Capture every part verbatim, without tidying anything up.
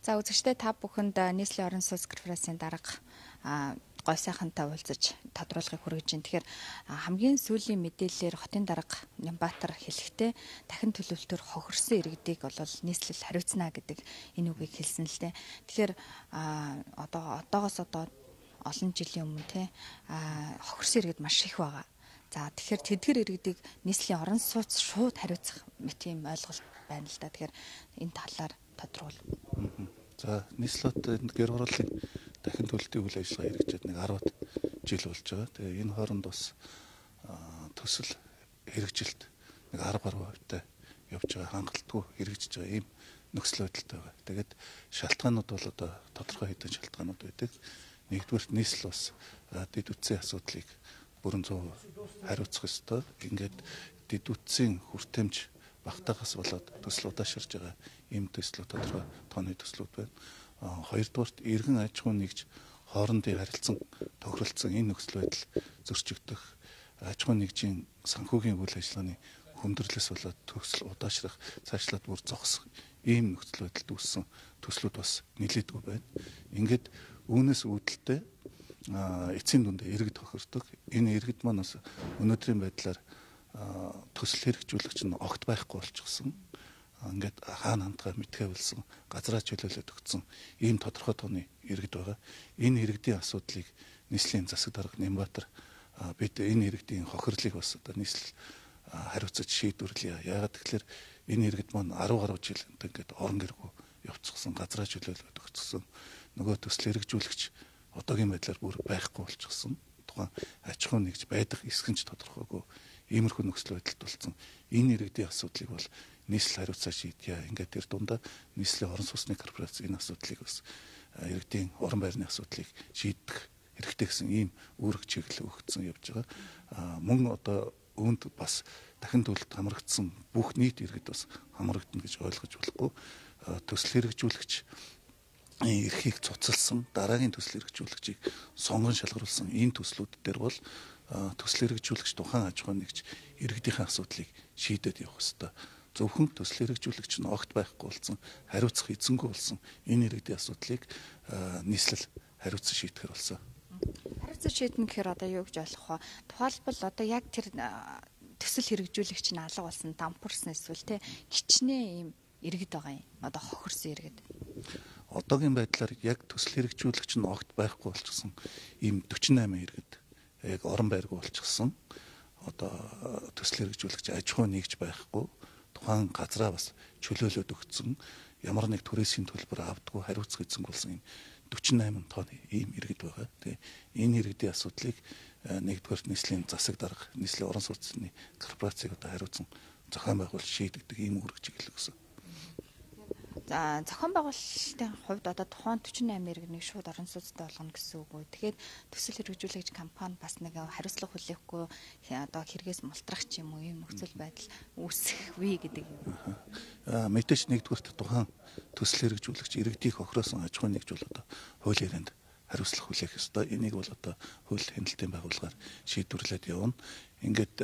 За үзэгчдээ та бүхэнд нийслэлийн орон сууц корпорацийн дарга гой сайхантай уулзаж тодруулахыг хүргэж байна. Тэгэхээр хамгийн сүүлийн мэдээллээр хотын дарга Нямбатар хэлэхдээ дахин төлөвлөлтөөр хохирсон иргэдийг бол нийслэл хариуцна гэдэг энэ үгийг хэлсэн л дээ. Тэгэхээр одоо одоогоос одоо олон жилийн өмнө те хохирсон иргэд маш их байгаа. За тэгэхээр тэдгэр иргэдийг нийслэлийн орон сууц шууд хариуцах мэт юм ойлголт байна л да. Тэгэхээр энэ талаар тодруулъя. За нийслэлд гэр хорооллын дахин төлөлтийн үйл ажиллагаа хэрэгжээд нэг арваад жил болж байгаа. Тэгээ энэ хооронд бас төсөл хэрэгжилт нэг арга баруун хувьтай явж байгаа, хангалтгүй хэрэгжиж байгаа ийм нөхцөл байдалтай байгаа. Тэгээд шалтгаанууд бол одоо тодорхой хэдэн шалтгаанууд байдаг. Нэгдүгээр нийслэл бас дэд үтсийн асуудлыг бүрэн зуун хариуцах ёстой. Ингээд дэд үтсийн хүртээмж багтаагаас болоод төсөл удаашрж байгаа ийм төслүүд тодорхой тооны төслүүд байна. Хоёрдугаарт иргэн аж ахуйн нэгж хоорондын харилцан тохиролцсон энэ нөхцөл байдал зөрчигдөх, аж ахуйн нэгжийн санхүүгийн үйл ажиллагааны хүндрэлээс болоод төсөл удаашрах, цаашлаад бүр зогсох ийм нөхцөл байдалд үүссэн төслүүд бас нэлээдгүй байна. Ингээд үүнээс үүдэлтэй эцсийн дүндээ иргэд тохирдог. Энэ иргэд маань бас өнөөдрийн байдлаар төсөл хэрэгжүүлэгч нь огт байхгүй болчихсон. Ингээд хаана хандгаа мэдхээ болсон, газраа чөлөөлөд өгсөн ийм тодорхой тооны иргэд байгаа. Энэ иргэдийн асуудлыг нийслэлийн засаг дарга Нямбатар бид энэ иргэдийн хохирлыг бас одоо нийслэл хариуцаж шийдвэрлэе. Яагаад гэвэл энэ иргэд маань арван гаруй жил ингээд орон гэргүй явцсан, газраа чөлөөлөд өгсөн. Нөгөө төсөл хэрэгжүүлэгч одоогийн байдлаар бүр байхгүй болчихсон. Тухайн аж ахуйн нэгж байдаг эсгэнч тодорхойгүй иймэрхүү нөхцөл байдалд болсон. Энэ иргэдийн асуудлыг бол нийслэл хариуцаа шийдье. Ингээд тэр дундаа нийслэлийн орон сууцны корпорац энэ асуудлыг бас иргэдийн орон байрны асуудлыг шийдэх хэрэгтэй гэсэн ийм үүрэг чиглэл өгсөн явж байгаа. Мөн одоо үүнд бас дахин төлөлт хамрагдсан бүх нийт иргэд бас хамрагдана гэж ойлгож болохгүй. Төсөл хэрэгжүүлэгч эрхийг цуцалсан, дараагийн төсөл хэрэгжүүлэгчийг сонгон шалгаруулсан энэ төслүүд дээр бол төсөл хэрэгжүүлэгч тухайн аж ахуйн нэгж иргэдийн асуудлыг шийдээд явах ёстой. Зөвхөн төсөл хэрэгжүүлэгч нь огт байхгүй болсон, хариуцах эзэнгүй болсон энэ иргэдийн асуудлыг нийслэл хариуцсан шийдэхэр болсон. Хариуцсан шийднэ гэхээр одоо юу гэж ойлгох вэ? Тухайлбал одоо яг тэр төсөл хэрэгжүүлэгч нь алга болсон, дампуурсан эсвэл те гिचнээ ийм иргэд байгаа юм. Одоо хохирсон иргэд. Одоогийн байдлаар яг төсөл хэрэгжүүлэгч нь огт байхгүй болчихсон ийм forty-eight иргэд яг орон байргүй болчихсон. Одоо төсөл хэрэгжүүлэгч аж ахуй нэгж байхгүй, тухайн газраа бас чөлөөлөд өгсөн, ямар нэг түрээсийн төлбөр авдаггүй хариуцах эзэнгүй болсон ийм forty-eight тонны ийм иргэд байгаа. Тэгээ энэ иргэдийн асуудлыг нэгдүгээр нийслэлийн засаг дарга, нийслэлийн орон сууцны корпорацийг одоо хариуцсан зохион байгуулалт шийдэгдэг ийм үүрэг чиглэл гэсэн. За зохион байгуулалтын хувьд одоо тухайн forty-eight иргэнийг шууд орон сууцтай болгоно гэсэн үг үү. Тэгэхээр төсөл хэрэгжүүлэгч компани бас нэг хариуцлага хүлээхгүй одоо хэрэгээс мултрах ч юм уу ийм нөхцөл байдал үүсэх вэ гэдэг юм. Аа мэдээж нэгдүгээрт тухайн төсөл хэрэгжүүлэгч иргэдийг хохироосон аж ахуйн нэгж бол одоо хуулийн ярианд хариуцлага хүлээх ёстой. Энийг бол одоо хууль хяналтын байгууллагаар шийдвэрлээд явна. Ингээд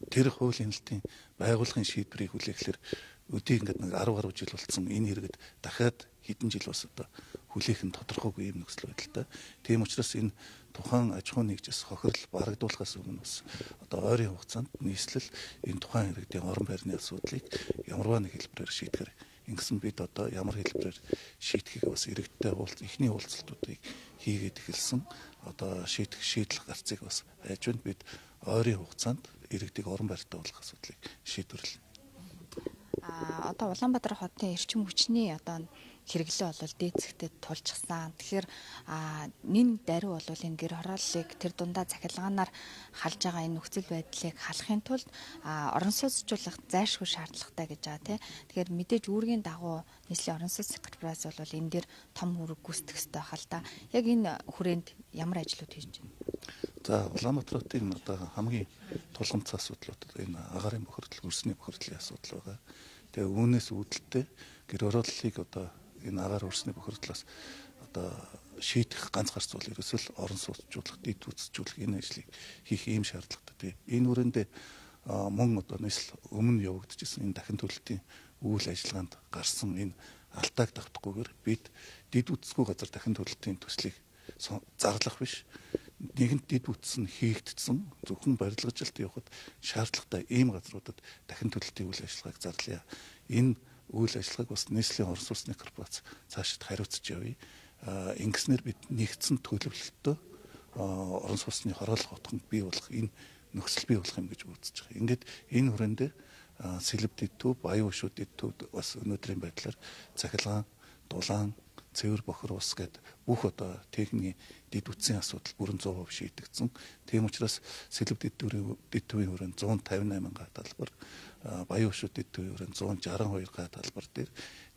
тэр хууль хяналтын байгууллагын шийдвэрийг хүлээхлээр өдөө ингээд нэг арван гаруй жил болсон энэ иргэд дахиад хэдэн жил бас одоо хүлээх нь тодорхойгүй юм нөхцөл байдалтай. Тийм учраас энэ тухайн аж ахуйн нэгжээс хохирол барагдуулахаас өмнө бас одоо ойрын хугацаанд нийслэл энэ тухайн иргэдийн орон байрны асуудлыг ямарваа нэг хэлбэрээр шийдэхэр ингэсэн бид одоо ямар хэлбэрээр шийдэхийг бас иргэдтэй уулз эхний уулзалтуудыг хийгээд эхэлсэн. Одоо шийдэх шийдэл гарцыг бас хайж байна. Бид ойрын хугацаанд иргэдийг орон байртай болгох асуудлыг шийдвэрлэнэ. А одоо Улаанбаатар хотын эрчим хүчний одоо хэрэглээ бол дээд зэгтээ тулжсан. Тэгэхээр нэн даруй бол энэ гэр хорооллыг тэр дундаа цахилгаанаар халж байгаа энэ нөхцөл байдлыг халахын тулд орон сууцчлах зайлшгүй шаардлагатай гэж байгаа тийм. Тэгэхээр мэдээж үүргийн дагуу нийслэлийн орон сууц корпорац бол энэ дээр том үүрэг гүйцэтгэх ёстой хэл та. Яг энэ хүрээнд ямар ажлууд хийж байна? За Улаанбаатар хотын одоо хамгийн тулгымцсан асуудлууд энэ агаарын бохирдол, өрсний бохирдлын асуудал байгаа. Тэгээ үүнээс үүдэлтэй гэр хорооллыг одоо энэ агаар өрсний бохирдлоос одоо шийдэх ганц гарц бол ерөөсөө орон сууцжуулах, дэд үтсжүүлэх энэ ажлыг хийх ийм шаардлагатай. Энэ хүрээндээ мөн одоо нийслэл өмнө явагдчихсан энэ дахин төлөлтийн үйл ажиллагаанд гарсан энэ алдааг давтахгүйгээр бид дид үтсгүй газар дахин төлөлтийн төслийг зарлах биш. Нэгэнт дид үтс нь хийгдсэн зөвхөн барилгажилт явахад шаардлагатай ийм газруудад дахин төлөлтийн үйл ажиллагааг зарлая. Энэ үйл ажиллагааг бас нийслэлийн орон сууцны корпорац цаашид хариуцж явъя. Ингэснээр бид нэгдсэн төлөвлөлтөд орон сууцны хороолох утганд бий болох энэ нөхцөл бий болох юм гэж үзэж байгаа. Ингээд энэ хүрээнд сэлб дэд төв, баян өшөө дэд төвд бас өнөөдрийн байдлаар цахилгаан, дулаан, цэвэр бохор ус гэд бүх одоо техникийн дэд үтсийн асуудал бүрэн сто процент шийдэгдсэн. Тийм учраас сэлб дэд төвийн дэд төвийн хүрээнд зуун тавин восемь га талбар, баян өшөө дэд төвийн хүрээнд зуун шестьдесят two га талбар дээр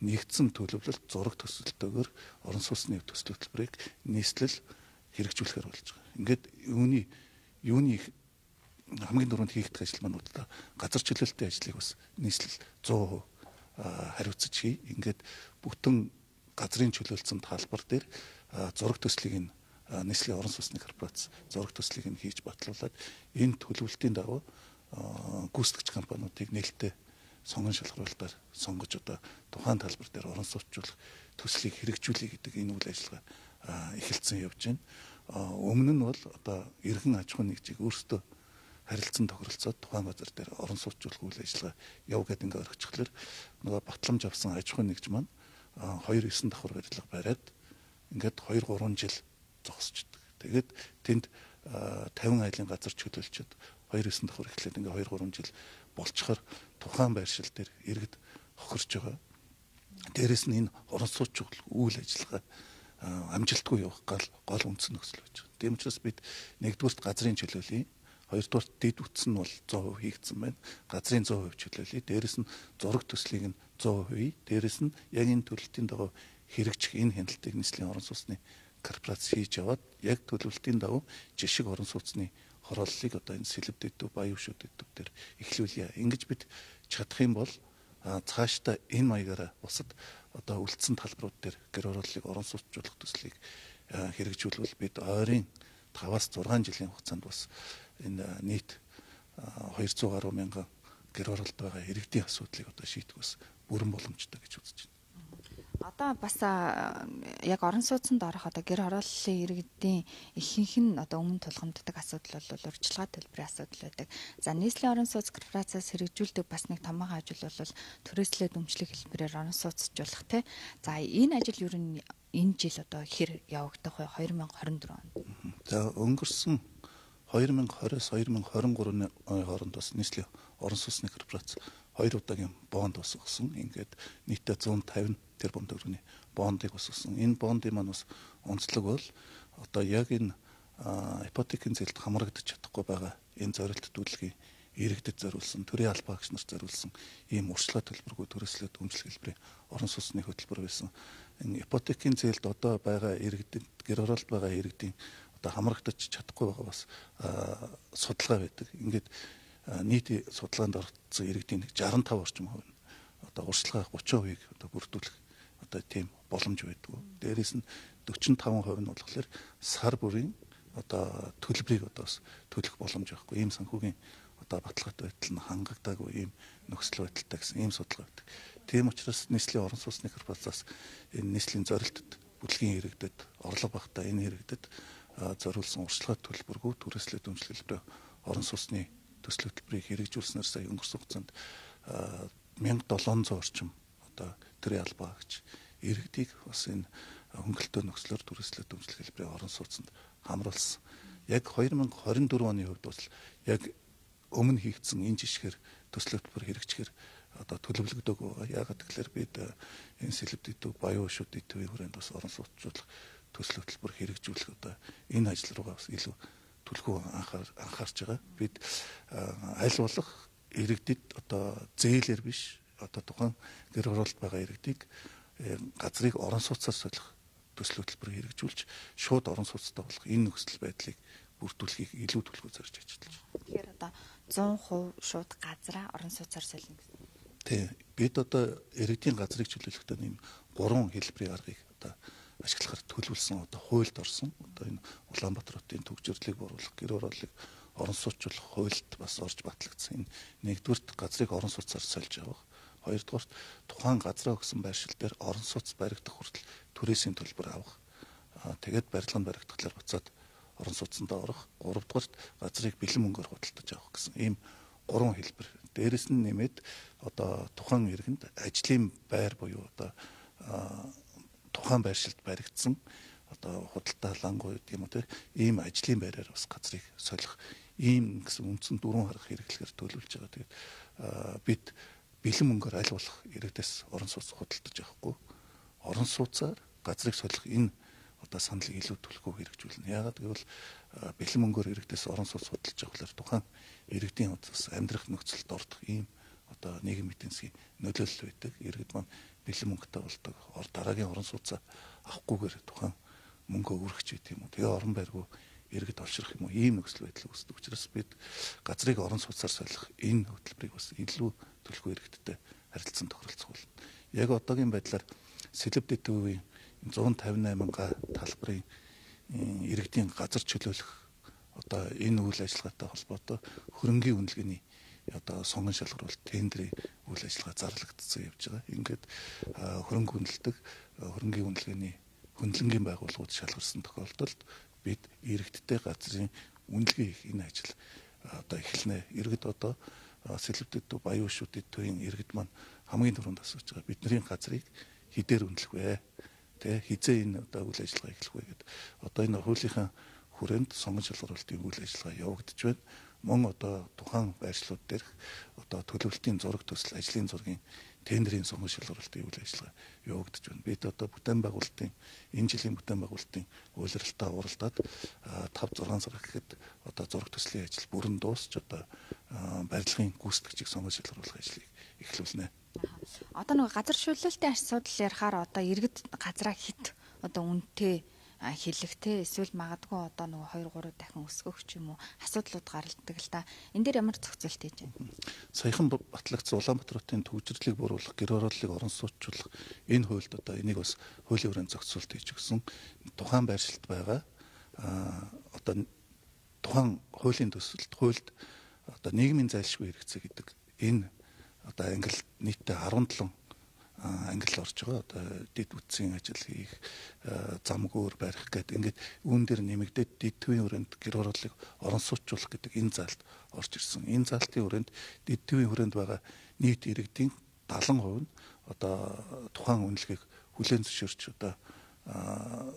нэгдсэн төлөвлөлт зураг төсөлтөөр орон сууцны төсөл хөтөлбөрийг нийслэл хэрэгжүүлэхээр болж байгаа. Ингээд юуны юуны хамгийн дөрөнд хийгдэх ажил маань удаа газар чөлөөлтийн ажлыг бас нийслэл сто процент хариуцж хий. Ингээд бүтэн газрын чөлөөлсөн талбар дээр зураг төслийг нь нийслэлийн орон сууцны корпорац зураг төслийг нь хийж батлуулаад энэ төлөвлөлтийн дагуу гүйцэтгэгч компаниудыг нээлттэй сонгон шалгаруулалтаар сонгож одоо тухайн талбар дээр орон сууцчлах төслийг хэрэгжүүлэх гэдэг энэ үйл ажиллагаа эхэлсэн явж байна. Өмнө нь бол одоо эргэн аж ахуйн нэгжийг өөрсдөө харилцан тохиролцоод тухайн газар дээр орон сууцчлах үйл ажиллагаа яв гэдэг ингээд орчихлоор нөгөө батламж авсан аж ахуйн нэгж маань хоёр девять давхар барилга бариад ингээд two three жил зогсчихдаг. Тэгээд тэнд фифty айлын газар чөлөөлчөд two девять давхар эхлээд ингээд two three жил болчихоор тухайн байршил дээр иргэд хохирч байгаа. Дээрээс нь энэ орон сууцчлах үйл ажиллагаа амжилтгүй явах гал гол үндсэн нөхцөл байж байгаа. Тийм учраас бид нэгдүгürt газрын чөлөөлөе. Хоёрдугаар дэд үтс нь бол сто процент хийгдсэн байна. Газрын сто процент чөлөөлөе. Дээрээс нь зураг төслийг нь сто процент. Дээрээс нь яг энэ төлөлтийн дагуу хэрэгжих энэ хяналтыг нийслэлийн орон сууцны корпорац хийж яваад яг төлөвлөлтийн дагуу жишг орон сууцны хорооллыг одоо энэ сэлб дэд төв, баян өшөө дэд төв дээр эхлүүлье. Ингэж бид чадах юм бол цаашдаа энэ маягаараа бусад одоо үлдсэн талбарууд дээр гэр хорооллыг орон сууцчлах төслийг хэрэгжүүлвэл бид ойрын five-аас six жилийн хугацаанд бас энэ нийт two hundred гаруй мянган гэр хороолт байгаа иргэдийн асуудлыг одоо шийдэх бас бүрэн боломжтой гэж үзэж байна. Одоо бас яг орон сууцнд орох одоо гэр хорооллын иргэдийн ихэнх нь одоо өмнө тулгамддаг асуудал бол урьдчилгаа төлбөрийн асуудал байдаг. За нийслэлийн орон сууц корпорацаас хэрэгжүүлдэг бас нэг томоохон ажил бол түрээслээ дэмжлэг хэлбэрээр орон сууцжуулах тий. За энэ ажил ер нь энэ жил одоо хэр явагдах вэ? twenty twenty-four онд. За өнгөрсөн twenty twenty-с twenty twenty-three оны хооронд бас нийслэлийн орон сууцны корпорац хоёр удаагийн бонд босгосон. Ингээд нийтдээ one fifty тэрбум төгрөгийн бондыг босгосон. Энэ бондын маань бас онцлог бол одоо яг энэ ипотекийн зээлд хамрагдаж чадахгүй байгаа энэ зорилт төлөвлөгийн иргэдэд зориулсан, төрийн албаагч нарт зориулсан ийм урьдчилгаа төлбөргүй төрөслөө дэмжлэг хэлбэрийн орон сууцны хөтөлбөр байсан. Энэ ипотекийн зээлд одоо байгаа иргэдэд гэр хороолт байгаа иргэдийн одоо хамрагдаж чадахгүй байгаа бас судалгаа байдаг. Ингээд нийт судалгаанд орсон иргэдийн sixty-five орчим хувь нь одоо урьдчилгаа thirty percent-ийг одоо бүрдүүлэх одоо тийм боломж байдгүй. Дээрээс нь forty-five percent нь болохоор сар бүрийн одоо төлбөрийг одоо төлөх боломж байхгүй. Ийм санхүүгийн одоо баталгаатай байдал нь хангагдаагүй ийм нөхцөл байдалтай гэсэн ийм судалгаа байдаг. Тийм учраас нийслэлийн орон сууцны корпорацаас энэ нийслэлийн зорилтод бүтлгийн иргэдэд орлого багтаа энэ иргэдэд зориулсан урьдчилгаа төлбөргүй түрээслээ дэмжлэг хэлбэрээр орон сууцны төсөл хөтөлбөрийг хэрэгжүүлснээр сая өнгөрсөн хугацаанд seventeen hundred орчим одоо төрийн албаагч иргэдийг бас энэ хөнгөлтөө нөхцлөөр түрээслээ дэмжлэг хэлбэрээр орон сууцнд хамруулсан. Яг twenty twenty-four оны хувьд бол яг өмнө хийгдсэн энэ жишгээр төсөл хөтөлбөр хэрэгжихээр одоо төлөвлөгдөг байгаа. Яагаад гэвэл бид энэ сэлб дэд төв, баян өшөө дэд төвийн хүрээнд бас орон сууцчлах төсөл хөтөлбөр хэрэгжүүлэх одоо энэ ажил руугаа бас илүү түлхүү анхаар анхаарч байгаа. Бид аль болох иргэдэд одоо зээлэр биш одоо тухайн гэр хороолт байгаа иргэдийг газрыг орон сууцаар солих төсөл хөтөлбөр хэрэгжүүлж шууд орон сууцтай болох энэ нөхцөл байдлыг бүрдүүлэхийг илүү түлхүү зорж ажиллаж байна. Тэгэхээр одоо one hundred percent шууд газраа орон сууцаар солино гэсэн. Тий. Бид одоо иргэдийн газрыг чөлөөлөхдөө нэм гурван хэлбэрийн аргыг одоо ашиглахаар төлөвлөсөн одоо хуульд орсон. Одоо энэ Улаанбаатар хотын төгжрлийг боруулах, гэр хорооллыг орон сууцчлах хуульд бас орж батлагдсан. Энэ нэгдүгürt газрыг орон сууцаар сольж авах, Хоёрдугаар тухайн газраа өгсөн байршил дээр орон сууц баригдах хүртэл түрээсийн төлбөр авах. Тэгээд барилганд баригдахлаар буцаад орон сууцсандаа орох. Гуравдугаар газрыг бэлэн мөнгөөр худалдаж авах гэсэн ийм гурван хэлбэр. Дээрэс нь нэмээд одоо тухайн иргэнд ажлын байр буюу одоо тухайн байршилд баригдсан одоо худалдаа лангуу гэдэг юм уу те ийм ажлын байраар бас газрыг солих ийм гэсэн үндсэн дөрвөн харах хэрэглэхээр төлөвлөж байгаа. Тэгээд бид бэлэн мөнгөөр аль болох иргэдээс орон сууц худалдаж авахгүй орон сууцаар газрыг солих энэ одоо саналыг илүү түлхүү хэрэгжүүлнэ. Яагаад гэвэл бэлэн мөнгөөр иргэдээс орон сууц худалдаж авахлаар тухайн иргэдийн бас амьдрах нөхцөлд ордог ийм одоо нийгмийн эдийн засгийн нөлөөлөл байдаг. Иргэд маань бэлэн мөнгөтэй болдог. Ор дараагийн орон сууцаа авахгүйгээр тухайн мөнгөө өргөж идэв юм уу. Тэгээ орон байргүй иргэд олшрах юм уу. Ийм нөхцөл байдал үүсдэг. Учираас бид газрыг орон сууцаар солих энэ хөтөлбөрийг бас илүү түлхүү иргэдтэй харилцан тохиролцох болно. Яг одоогийн байдлаар Сэлб дэдгүүрийн зуун тавин восемь га талбарын иргэдийн газар чөлөөлөх одоо энэ үйл ажиллагаатай холбоотой хөрөнгийн үнэлгээний одоо сонгон шалгаруулалт тендерийн үйл ажиллагаа зарлагдсан явж байгаа. Ингээд хөрөнгө үнэлдэг хөрөнгийн үнэлгээний хөндлөнгийн байгууллагууд шалгарсан тохиолдолд бид иргэдтэй газрын үнэлгээ хийх энэ ажил одоо эхэлнэ. Иргэд одоо Сэлб дэдгүү Баян Шүд дэдгүүрийн иргэд маань хамгийн түрүүнд асууж байгаа бидний газрыг хідээр үнэлэх вэ? Тэ хизээ энэ одоо үйл ажиллагаа эхлэх вэ гэдэг. Одоо энэ хуулийнхаа хүрээнд сонгон шалгаруулалтын үйл ажиллагаа явагдаж байна. Мөн одоо тухайн байршлууд дээрх одоо төлөвлөлтийн зураг төсөл, ажлын зургийн тендерийн сонгон шалгаруулалтын үйл ажиллагаа явагдаж байна. Бид одоо бүтээн байгуулалтын энэ жилийн бүтээн байгуулалтын үйлрэлтээ уралдаад тавь зургаан сар гэхэд одоо зураг төслийн ажил бүрэн дуусч одоо барилгын гүйцэтгэгчийг сонгон шалгаруулах ажлыг эхлүүлнэ. Одоо нэг газар шүүлэлтийн асуудал ярихаар одоо иргэд газраа хит одоо үнэтэй хэлэхтэй эсвэл магадгүй одоо нэг хоёр гурав дахин өсгөх ч юм уу асуудлууд гаралдаг л да. Энд дээр ямар зохицуулт хийж байна? Саяхан батлагдсан Улаанбаатар хотын төвчрлийг бууруулах, гэр орооллыг орон сууцчлах энэ хуульд одоо энийг бас хуулийн хүрээнд зохицуулт хийж өгсөн. Тухайн байршилд байгаа одоо тухайн хуулийн төсөлд хуульд одоо нийгмийн зайлшгүй хэрэгцээ гэдэг энэ одоо англи нийтдээ арван долоо англи орж байгаа. Одоо дид үтсийн ажил хийх, замгуур барих гэдэг ингээд үүн дээр нэмэгдээд дид төвийн хүрээнд гэр орооллыг орон сууцуулах гэдэг энэ заалт орж ирсэн. Энэ заалтын хүрээнд дид төвийн хүрээнд байгаа нийт иргэдийн дагалан хувь нь одоо тухайн үнэлгээг хүлээн зөвшөөрч одоо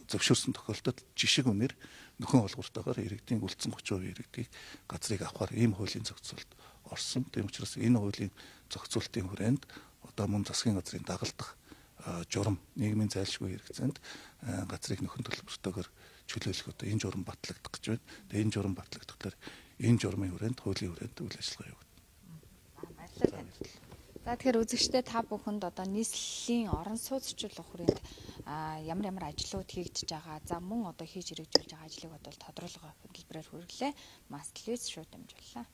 зөвшөөрсөн тохиолдолд жишг үнээр нөхөн олгууртайгаар иргэдийн үлдсэн тридцать хувь иргэдийг газрыг авахар ийм хуулийн зохицуулт орсон. Тийм учраас энэ хуулийн зохицуултын хүрээнд одоо мөн засгийн газрын дагалдах журам нийгмийн зайлшгүй хэрэгцээнд газрыг нөхөн төлбөртөөр чөлөөлөх одоо энэ журам батлагдах гэж байна. Тэгээ энэ журам батлагдахлаар энэ журмын хүрээнд хуулийн хүрээнд үйл ажиллагаа явагдана. Баярлалаа. За тэгэхээр үзэгчдээ та бүхэнд одоо нийслэлийн орон сууцчлах хүрээнд ямар ямар ажлууд хийгдэж байгаа, за мөн одоо хийж хэрэгжүүлж байгаа ажлыг бодвол тодорхойлгоо хөтөлбөрөөр хүргэлээ. Мастер Луис шууд дамжууллаа.